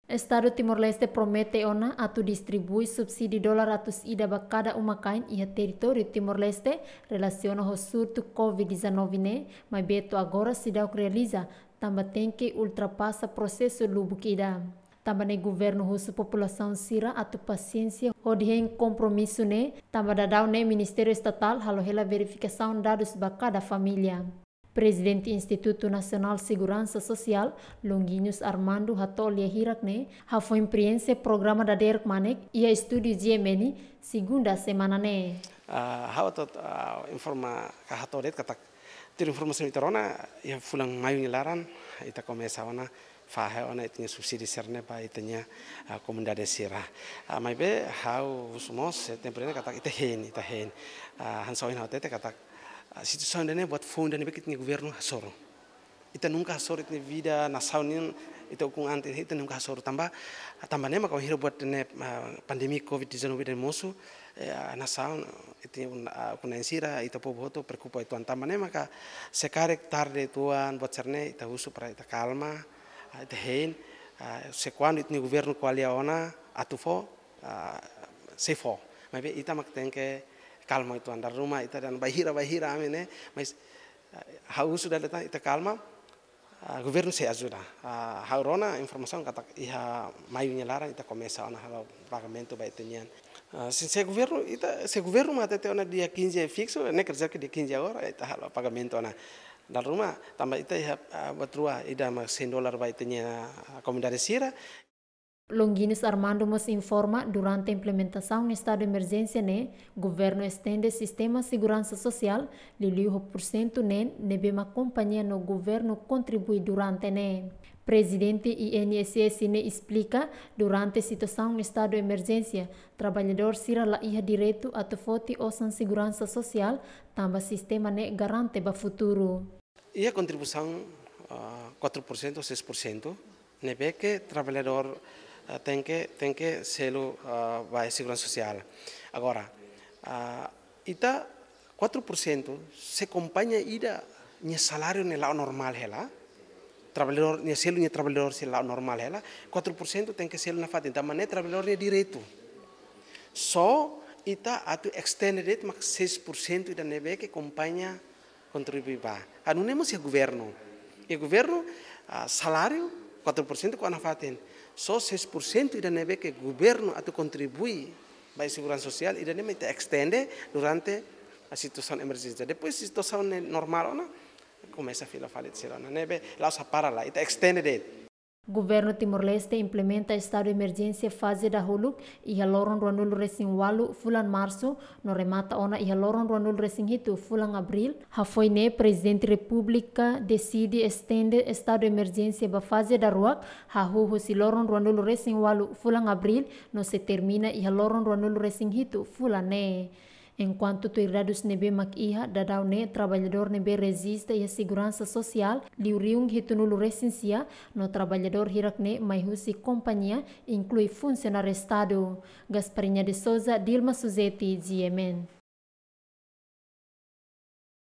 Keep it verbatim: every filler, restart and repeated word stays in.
Estadu Timor-Leste promete ona atu distribui subsídiu dolar atus ida ba kada uma-kain iha territóriu Timor-Leste relasiona ho surtu covid dezanove ne'e, maibé to'o agora seidauk realiza, tanba tenke ultrapasa prosesu lubuk ida. Tanba ne'e governu husu populasaun sira atu pasiénsia hodi hein kompromisu ne'e, tanba daudaun ne'e Ministériu Estatál halo hela verifikasaun dadus ba kada família. Prezidente Institutu Nasionál Seguransa Sosiál, Longuinhos Armando, hato'o lia hirak ne'e hafoin prienxe programa dadeer kmanek iha estúdiu G M N, segunda semana ne'e. Ah, ha'u atu, ah, informa ka hato'o de'it katak tuir informasaun ita rona, iha fulan maiu nia laran ita komesa ona fahe ona ita-nia subsídiu sira-ne'e ba ita-nia, ah, komunidade sira. Ah, maibé ha'u husu mós, eh, tempu ne'e katak ita hein, ita hein. Ah, hanesan ohin ha'u hatete katak, ah, situasaun ida-ne'e buat foun ida ne'ebé ke ita-nia governu hasoru. Ita nunka hasoru ita-nia vida nasaun nian, ita ukun an ita nunka hasoru tanba, tanba ne'e maka wainhira buat ne'e, ah, pandemia covid dezanove ida mosu, eh, nasaun, ita un-, ah, ukun-na'in sira, ita povu hotu preokupa uitoan tanba ne'e maka se karik tarde uitoan buat sira-ne'e ita husu para ita kalma, ah, ita hein, ah, se kuandu ita-nia governu ko'alia ona atu fó, ah, sei fó. Maibé ita mak tenke kalma uitoan, dala ruma ita dehan bainhira, bainhira ami ne'e, mas, ah, ha'u husu dala ida tan ita kalma, ah, governu sei ajuda. Ah, ha'u rona informasaun katak iha maiu nia laran ita komesa ona halo pagamentu ba ita-nian. Ah, se, se governu, ita, se governu mak hatete ona dia quinze fiksu, ne'e kerja ke dia quinze agora, ita halo pagamentu ona. Dala ruma, tanba ita iha, ah, buat rua, ida mak cem dolar ba ita-nia, ah, komunidade sira. Longuinhos Armando mós informa, durante implementasaun estadu emerjénsia ne'e, governu estende sistema seguransa sosiál, liuliu ho pursentu neen ne'ebé mak kompañia no governu kontribui durante ne'e. Prezidente I N S S ne'e esplika, durante situasaun estadu emerjénsia, traballadór sira la iha direitu atu foti osan seguransa sosiál, tanba sistema ne'e garante ba futuru. Iha kontribuisaun, ah, quatro por cento ou seis por cento, ne'ebé ke traballadór, ah, tenke, tenke selu, ah, ba seguransa sosiál. Agora, ah, ita quatro por cento se kompañia ida nia saláriu ne'e la'o normál hela, traballadór, nia selu nia traballadór sei la'o normál hela, quatro por cento tenke selu nafatin, tanba ne'e traballadór nia direitu. Só ita atu extende de'it mak seis por cento ida ne'ebé ke kompañia kontribui ba. Ah, nune'e mós iha governu. Iha governu, ah, saláriu quatro por cento ko'a nafatin. Só seis por cento ida ne'ebé ke governu atu kontribui ba seguransa sosiál, ida-ne'e mak ita extende durante situasaun emerjénsia. Depois situasaun ne'e normál ona, komesa fila fali sira ona. Ne'ebé la'ós para la, ita extende de'it. Governu Timor-Leste implementa estadu emerjénsia faze dahuluk iha loron ruanulu-resin-ualu fulan Marsu, no remata ona iha loron ruanulu-resin-hitu fulan Abríl. Hafoin ne'e Prezidente Repúblika deside estende estadu emerjénsia ba faze daruak, hahú husi loron ruanulu-resin-ualu fulan Abríl, no sei termina iha loron ruanulu-resin-hitu fulan ne'e. Enkuantu tuir dadus ne'ebé mak iha, daudaun ne'e traballadór ne'ebé rejista iha seguransa sosiál liu rihun hitunulu-resin-sia, no traballadór hirak ne'e mai husi kompañia, inklui funsionáriu estadu. Gasparinha de Souza, Dilma Suzeti, G M N.